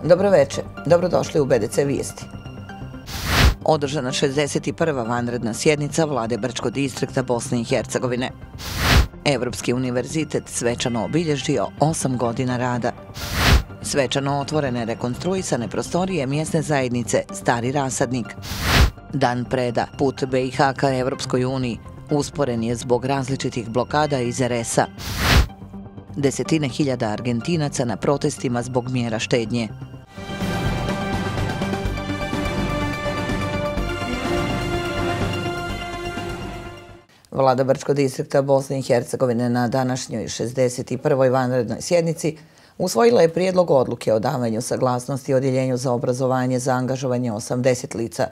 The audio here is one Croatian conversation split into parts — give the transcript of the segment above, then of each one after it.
Dobro večer, dobrodošli u BDC Vijesti. Održana 61. vanredna sjednica Vlade Brčkog distrikta Bosne i Hercegovine. Evropski univerzitet svečano obilježio 8 godina rada. Svečano otvorene rekonstruisane prostorije mjesne zajednice Stari Rasadnik. Dan preda, put BiH ka Evropskoj uniji, usporen je zbog različitih blokada iz RS-a. Desetine hiljada Argentinaca na protestima zbog mjera štednje. Vlada Brčkog distrikta Bosne i Hercegovine na današnjoj 61. vanrednoj sjednici usvojila je prijedlog odluke o davanju saglasnosti Odjeljenju za obrazovanje za angažovanje 80 lica,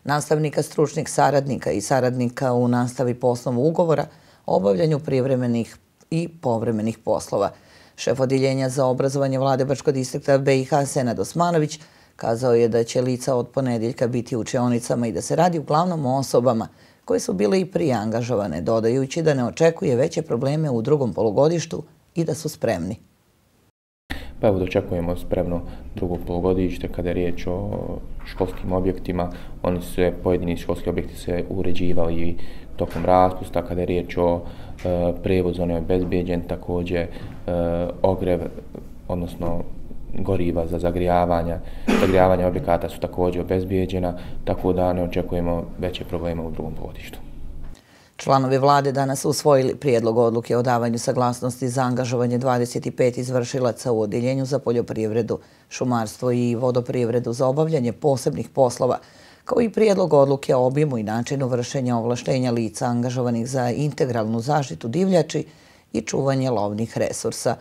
nastavnika, stručnih saradnika i saradnika u nastavi po osnovu ugovora o obavljanju privremenih i povremenih poslova. Šef Odjeljenja za obrazovanje Vlade Brčkog distrikta BiH Senad Osmanović kazao je da će lica od ponedjeljka biti u učionicama i da se radi uglavnom o osobama koje su bile i prije angažovane, dodajući da ne očekuje veće probleme u drugom polugodištu i da su spremni. Pa evo dočekujemo spremno drugo polugodište kada je riječ o školskim objektima. Pojedini školski objekti se uređivali tokom raspusta. Kada je riječ o prijevozu, on je obezbijeđen, također ogrev, odnosno goriva za zagrijavanje objekata su također obezbijeđena, tako da ne očekujemo veće probleme u drugom polugodištu. Članovi vlade danas su usvojili prijedlog odluke o davanju saglasnosti za angažovanje 25 izvršilaca u Odjeljenju za poljoprivredu, šumarstvo i vodoprivredu za obavljanje posebnih poslova, kao i prijedlog odluke o obimu i načinu vršenja ovlaštenja lica angažovanih za integralnu zaštitu divljači i čuvanje lovnih resursa.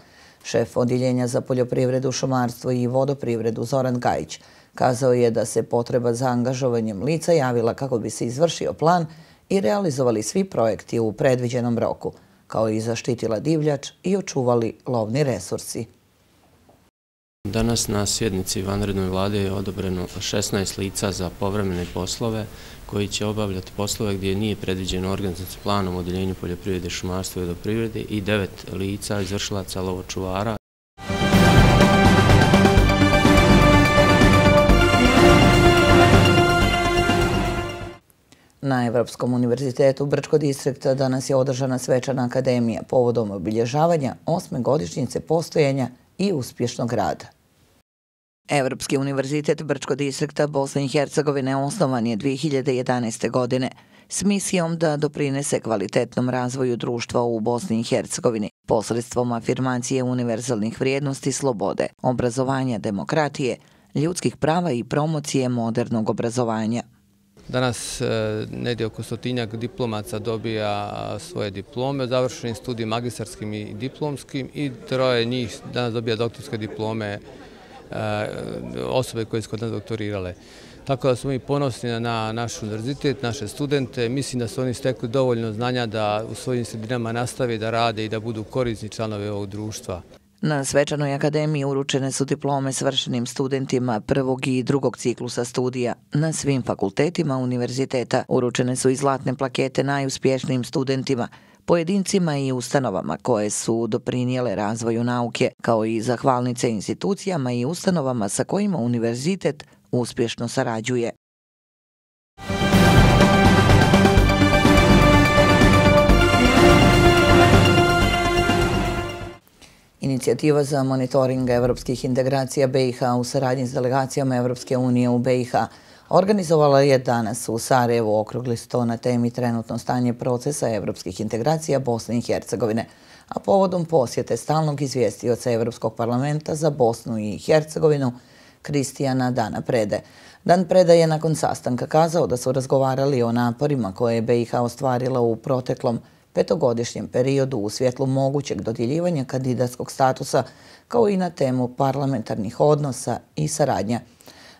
Šef Odjeljenja za poljoprivredu, šumarstvo i vodoprivredu Zoran Gajić kazao je da se potreba za angažovanjem lica javila kako bi se izvršio plan i realizovali svi projekti u predviđenom roku, kao i zaštitila divljač i očuvali lovni resursi. Danas na sjednici vanrednoj vlade je odobreno 16 lica za povremene poslove koji će obavljati poslove gdje nije predviđeno organizacijskim planom u Odjeljenju poljoprivrede, šumarstva i vodoprivrede i 9 lica izvršilaca lovočuvara. Na Evropskom univerzitetu Brčkog distrikta danas je održana svečana akademija povodom obilježavanja 8. godišnjice postojanja i uspješnog rada. Evropski univerzitet Brčkog distrikta Bosne i Hercegovine osnovan je 2011. godine s misijom da doprinese kvalitetnom razvoju društva u Bosni i Hercegovini posredstvom afirmacije univerzalnih vrijednosti slobode, obrazovanja, demokratije, ljudskih prava i promocije modernog obrazovanja. Danas negdje oko 100-tinjak diplomaca dobija svoje diplome, završenim studijem magistarskim i diplomskim i 3 njih danas dobija doktorske diplome, osobe koje su kod nas doktorirale. Tako da smo mi ponosni na naš univerzitet, naše studente. Mislim da su oni stekli dovoljno znanja da u svojim sredinama nastave da rade i da budu korisni članovi ovog društva. Na svečanoj akademiji uručene su diplome svršenim studentima prvog i drugog ciklusa studija. Na svim fakultetima univerziteta uručene su i zlatne plakete najuspješnijim studentima, pojedincima i ustanovama koje su doprinijele razvoju nauke, kao i zahvalnice institucijama i ustanovama sa kojima univerzitet uspješno sarađuje. Inicijativa za monitoring evropskih integracija BiH u saradnji s delegacijama Evropske unije u BiH organizovala je danas u Sarajevu okrugli sto na temi trenutno stanje procesa evropskih integracija Bosne i Hercegovine, a povodom posjete stalnog izvjestioca Evropskog parlamenta za Bosnu i Hercegovinu Kristijana Dana Prede. Dan Preda je nakon sastanka kazao da su razgovarali o naporima koje je BiH ostvarila u proteklom 5-godišnjem periodu u svjetlu mogućeg dodjeljivanja kandidatskog statusa, kao i na temu parlamentarnih odnosa i saradnja.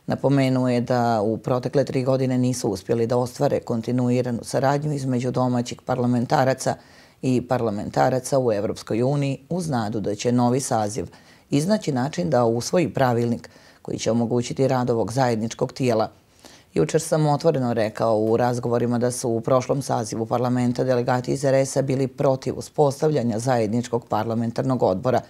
Napomenuo je da u protekle 3 godine nisu uspjeli da ostvare kontinuiranu saradnju između domaćih parlamentaraca i parlamentaraca u Evropskoj uniji uz nadu da će novi saziv iznaći način da usvoji pravilnik koji će omogućiti rad ovog zajedničkog tijela. Jučer sam otvoreno rekao u razgovorima da su u prošlom sazivu parlamenta delegati iz RS-a bili protiv uspostavljanja zajedničkog parlamentarnog odbora.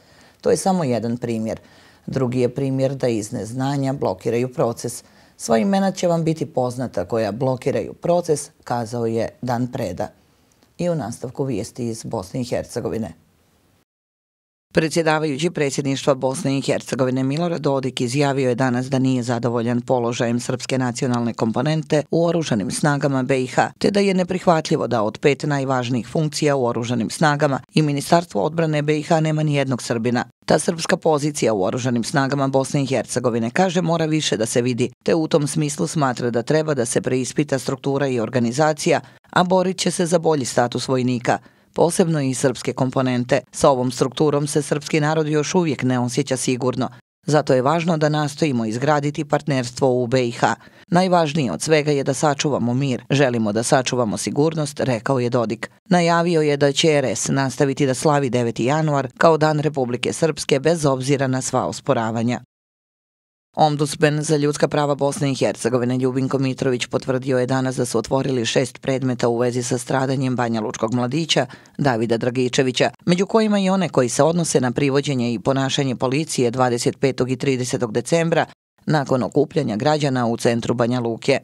To je samo jedan primjer. Drugi je primjer da iz neznanja blokiraju proces. Sva imena će vam biti poznata koja blokiraju proces, kazao je Dan Preda. I u nastavku vijesti iz Bosne i Hercegovine. Predsjedavajući predsjedništva Bosne i Hercegovine Milorad Dodik izjavio je danas da nije zadovoljan položajem srpske nacionalne komponente u oružanim snagama BiH, te da je neprihvatljivo da od 5 najvažnijih funkcija u oružanim snagama i Ministarstvo odbrane BiH nema ni jednog Srbina. Ta srpska pozicija u oružanim snagama Bosne i Hercegovine, kaže, mora više da se vidi, te u tom smislu smatra da treba da se preispita struktura i organizacija, a borit će se za bolji status vojnika, posebno i srpske komponente. Sa ovom strukturom se srpski narod još uvijek ne osjeća sigurno. Zato je važno da nastojimo izgraditi partnerstvo u BiH. Najvažnije od svega je da sačuvamo mir. Želimo da sačuvamo sigurnost, rekao je Dodik. Najavio je da će RS nastaviti da slavi 9. januar kao Dan Republike Srpske bez obzira na sva osporavanja. Ombudsman za ljudska prava Bosne i Hercegovine Ljubinko Mitrović potvrdio je danas da su otvorili 6 predmeta u vezi sa stradanjem banjalučkog mladića Davida Dragičevića, među kojima i one koji se odnose na privođenje i ponašanje policije 25. i 30. decembra nakon okupljanja građana u centru Banja Luke.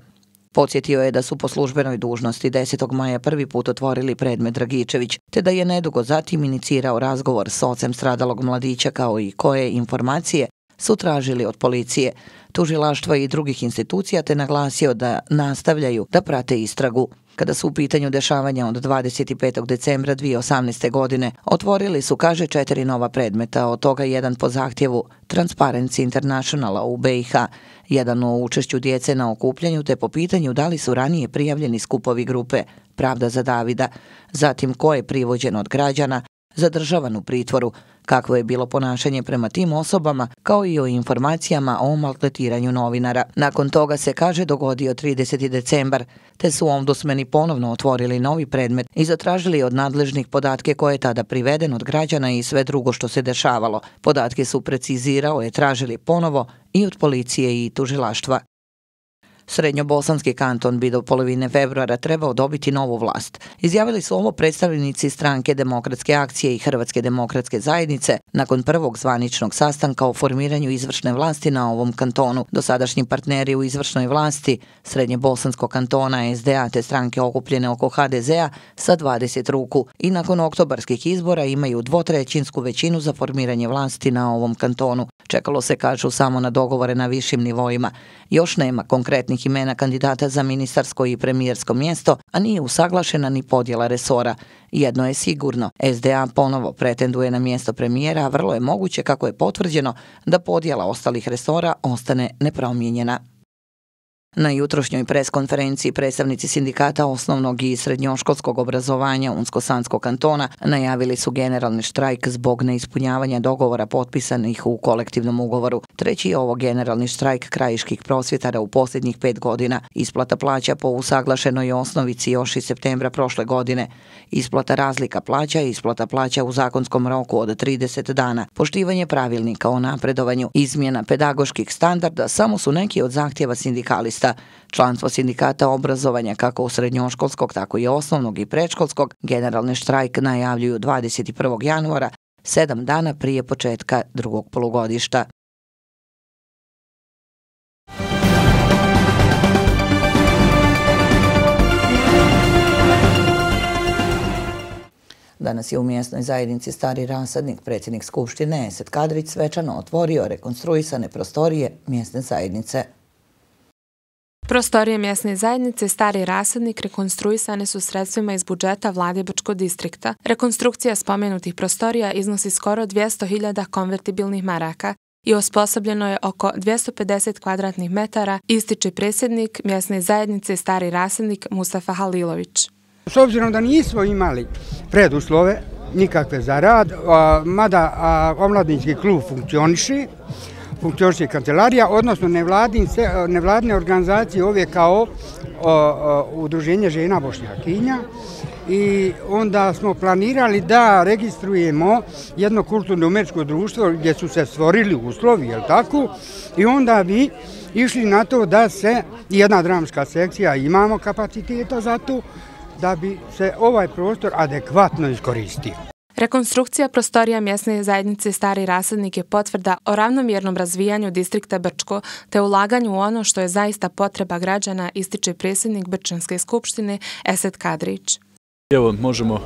Podsjetio je da su po službenoj dužnosti 10. maja prvi put otvorili predmet Dragičević, te da je nedugo zatim inicirao razgovor s ocem stradalog mladića kao i koje informacije su tražili od policije, tužilaštva i drugih institucija, te naglasio da nastavljaju da prate istragu. Kada su u pitanju dešavanja od 25. decembra 2018. godine, otvorili su, kaže, 4 nova predmeta, od toga jedan po zahtjevu Transparency Internationala u BiH, jedan o učešću djece na okupljanju, te po pitanju da li su ranije prijavljeni skupovi grupe Pravda za Davida, zatim ko je privođen od građana, zadržavan u pritvoru, kakvo je bilo ponašanje prema tim osobama, kao i o informacijama o maltretiranju novinara. Nakon toga se, kaže, dogodio 30. decembar, te su ombudsmani ponovno otvorili novi predmet i zatražili od nadležnih podatke koje je tada priveden od građana i sve drugo što se dešavalo. Podatke su precizirao je tražili ponovo i od policije i tužilaštva. Srednjobosanski kanton bi do polovine februara trebao dobiti novu vlast. Izjavili su ovo predstavnici Stranke demokratske akcije i Hrvatske demokratske zajednice nakon prvog zvaničnog sastanka o formiranju izvršne vlasti na ovom kantonu. Dosadašnji partneri u izvršnoj vlasti Srednjebosanskog kantona SDA te stranke okupljene oko HDZ-a sa 20 ruku i nakon oktobarskih izbora imaju 2/3 većinu za formiranje vlasti na ovom kantonu. Čekalo se, kažu, samo na dogovore na višim nivoima. Još nema konkretnih imena kandidata za ministarsko i premijersko mjesto, a nije usaglašena ni podjela resora. Jedno je sigurno, SDA ponovo pretenduje na mjesto premijera, a vrlo je moguće, kako je potvrđeno, da podjela ostalih resora ostane nepromijenjena. Na jutrošnjoj preskonferenciji predstavnici sindikata osnovnog i srednjoškolskog obrazovanja Unsko-Sanskog kantona najavili su generalni štrajk zbog neispunjavanja dogovora potpisanih u kolektivnom ugovoru. Treći je ovo generalni štrajk krajiških prosvjetara u posljednjih 5 godina. Isplata plaća po usaglašenoj osnovici još iz septembra prošle godine. Isplata razlika plaća i isplata plaća u zakonskom roku od 30 dana. Poštivanje pravilnika o napredovanju, izmjena pedagoških standarda samo su neki od zahtjeva sindikalista. Članstvo sindikata obrazovanja kako u srednjoškolskog, tako i osnovnog i predškolskog generalni štrajk najavljuju 21. januara, 7 dana prije početka drugog polugodišta. Danas je u mjesnoj zajednici Stari Rasadnik predsjednik Skupštine Esad Kadrić svečano otvorio rekonstruisane prostorije mjesne zajednice. Prostorije mjesne zajednice Stari Rasadnik rekonstruisane su sredstvima iz budžeta Vlade Brčkog distrikta. Rekonstrukcija spomenutih prostorija iznosi skoro 200.000 konvertibilnih maraka i osposobljeno je oko 250 kvadratnih metara, ističe predsjednik mjesne zajednice Stari Rasadnik Mustafa Halilović. S obzirom da nismo imali preduslove nikakve za rad, mada omladinski klub funkcioniše kancelarija, odnosno nevladine organizacije ove kao Udruženje žena Bošnjakinja, i onda smo planirali da registrujemo jedno kulturno-umetničko društvo gdje su se stvorili uslovi, jel tako, i onda bi išli na to da se jedna dramska sekcija, imamo kapaciteta za to, da bi se ovaj prostor adekvatno iskoristio. Rekonstrukcija prostorija mjesne zajednice Stari Rasadnik je potvrda o ravnomjernom razvijanju distrikta Brčko te ulaganju u ono što je zaista potreba građana, ističe predsjednik Brčanske skupštine Esed Kadrić. Evo, možemo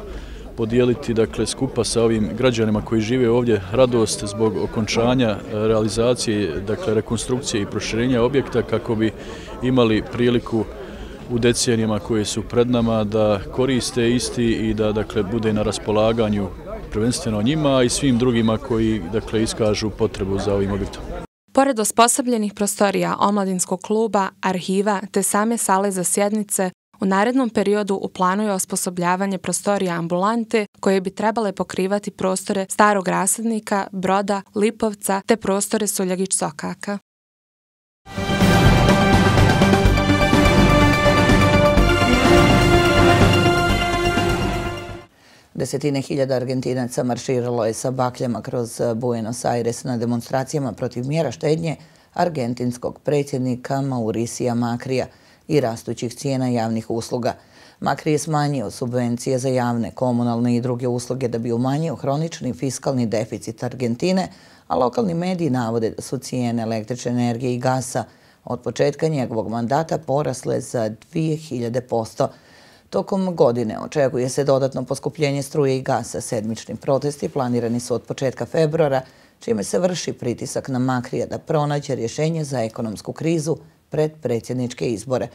podijeliti skupa sa ovim građanima koji žive ovdje radost zbog okončanja realizacije, rekonstrukcije i proširenja objekta kako bi imali priliku u decenijama koje su pred nama da koriste isti i da bude na raspolaganju prvenstveno njima i svim drugima koji iskažu potrebu za ovim objektom. Pored osposobljenih prostorija omladinskog kluba, arhiva te same sale za sjednice, u narednom periodu u planu je osposobljavanje prostorija ambulante koje bi trebale pokrivati prostore Starog Rasadnika, Broda, Lipovca te prostore Suljagić-Sokaka. Desetine hiljada Argentinaca marširalo je sa bakljama kroz Buenos Aires na demonstracijama protiv mjera štednje argentinskog predsjednika Mauricija Makrija i rastućih cijena javnih usluga. Makri je smanjio subvencije za javne, komunalne i druge usluge da bi umanjio hronični fiskalni deficit Argentine, a lokalni mediji navode da su cijene električne energije i gasa od početka njegovog mandata porasle za 2000%. Tokom godine očekuje se dodatno poskupljenje struje i gasa. Sedmični protesti planirani su od početka februara, čime se vrši pritisak na Makrija da pronađe rješenje za ekonomsku krizu pred predsjedničke izbore.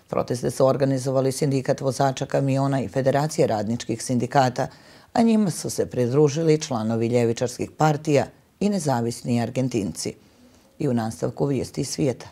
Proteste su organizovali Sindikat vozača kamiona i Federacije radničkih sindikata, a njima su se pridružili članovi ljevičarskih partija i nezavisni Argentinci. I u nastavku vijesti svijeta.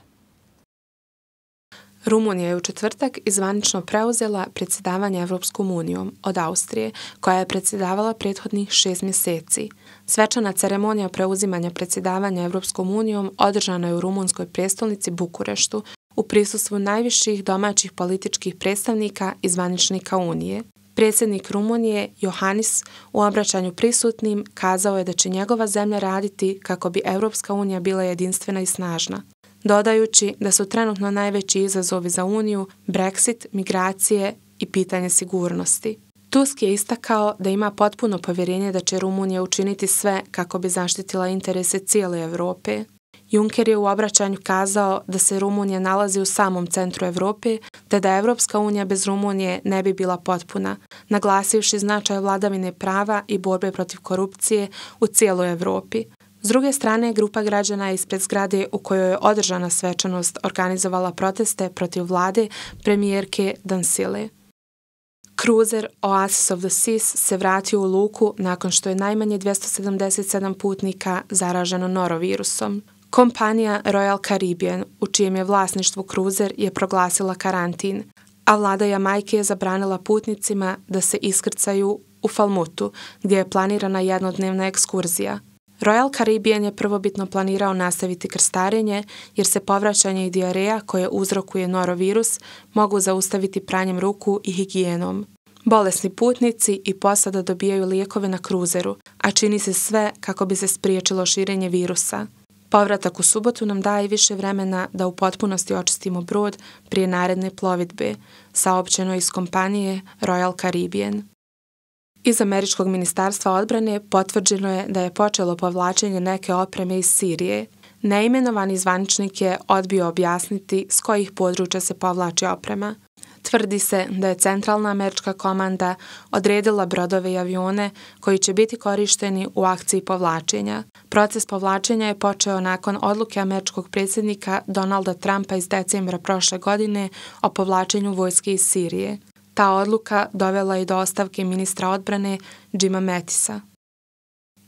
Rumunija je u četvrtak zvanično preuzela predsjedavanje Evropskom unijom od Austrije, koja je predsjedavala prethodnih 6 mjeseci. Svečana ceremonija preuzimanja predsjedavanja Evropskom unijom održana je u rumunskoj prijestolnici Bukureštu u prisustvu najviših domaćih političkih predstavnika i zvaničnika Unije. Predsjednik Rumunije, Iohannis, u obraćanju prisutnim kazao je da će njegova zemlja raditi kako bi Evropska unija bila jedinstvena i snažna, dodajući da su trenutno najveći izazovi za Uniju Brexit, migracije i pitanje sigurnosti. Tusk je istakao da ima potpuno povjerenje da će Rumunija učiniti sve kako bi zaštitila interese cijele Europe. Juncker je u obraćanju kazao da se Rumunija nalazi u samom centru Europe, te da Evropska unija bez Rumunije ne bi bila potpuna, naglasivši značaj vladavine prava i borbe protiv korupcije u cijeloj Europi. S druge strane, grupa građana ispred zgrade u kojoj je održana svečanost organizovala proteste protiv vlade premijerke Dancile. Kruzer Oasis of the Seas se vratio u luku nakon što je najmanje 277 putnika zaraženo norovirusom. Kompanija Royal Caribbean, u čijem je vlasništvu kruzer, je proglasila karantin, a vlada Jamajke je zabranila putnicima da se iskrcaju u Falmutu, gdje je planirana jednodnevna ekskurzija. Royal Caribbean je prvobitno planirao nastaviti krstarenje jer se povraćanje i dijareja koje uzrokuje norovirus mogu zaustaviti pranjem ruku i higijenom. Bolesni putnici i posada dobijaju lijekove na kruzeru, a čini se sve kako bi se spriječilo širenje virusa. Povratak u subotu nam daje više vremena da u potpunosti očistimo brod prije naredne plovidbe, saopćeno iz kompanije Royal Caribbean. Iz Američkog ministarstva odbrane potvrđeno je da je počelo povlačenje neke opreme iz Sirije. Neimenovani zvaničnik je odbio objasniti s kojih područja se povlači oprema. Tvrdi se da je centralna američka komanda odredila brodove i avione koji će biti korišteni u akciji povlačenja. Proces povlačenja je počeo nakon odluke američkog predsjednika Donalda Trumpa iz decembra prošle godine o povlačenju vojske iz Sirije. Ta odluka dovela je do ostavke ministra odbrane Jima Mattisa.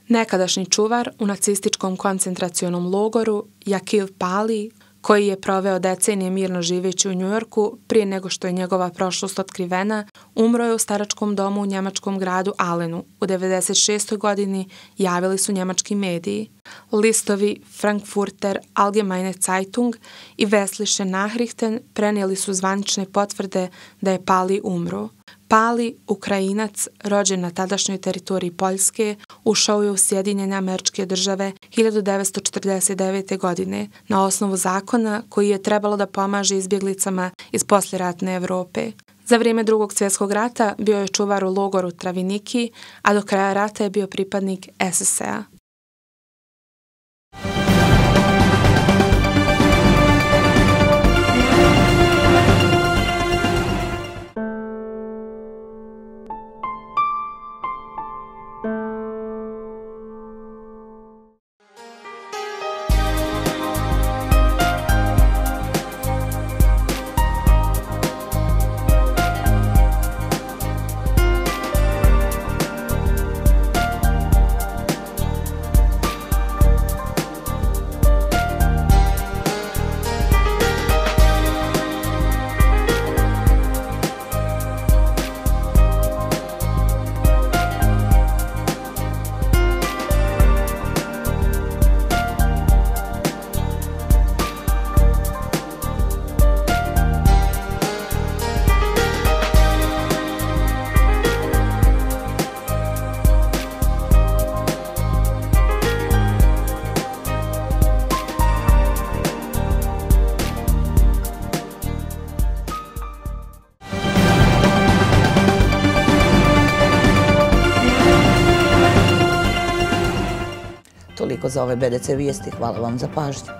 Nekadašnji čuvar u nacističkom koncentracionom logoru Jakub Pali, koji je proveo decenije mirno živeći u Njujorku prije nego što je njegova prošlost otkrivena, umro je u staračkom domu u njemačkom gradu Allenu. U 96. godini javili su njemački mediji. Listovi Frankfurter Allgemeine Zeitung i Westliche Nachrichten prenijeli su zvanične potvrde da je Pali umro. Pali, Ukrajinac, rođen na tadašnjoj teritoriji Poljske, ušao je u Sjedinjene Američke Države 1949. godine na osnovu zakona koji je trebalo da pomaže izbjeglicama iz posljeratne Europe. Za vrijeme Drugog svjetskog rata bio je čuvar u logoru Traviniki, a do kraja rata je bio pripadnik SS-a. Toliko za ove BDC vijesti. Hvala vam za pažnju.